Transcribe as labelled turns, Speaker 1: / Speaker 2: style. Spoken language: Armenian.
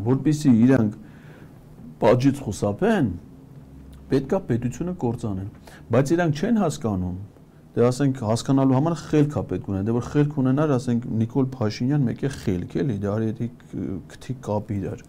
Speaker 1: որպեսզի իրանք պատժից խուսափեն, պետքա պետությունը կործանեն, բայց իրանք չեն հասկանում, դե ասենք հասկանալու համար խելք է պետք ունենա, դե որ խելք ունենար, ասենք Նիկոլ Փաշինյան մեկ է խելք էլի, դա արի քթի կապ իրար,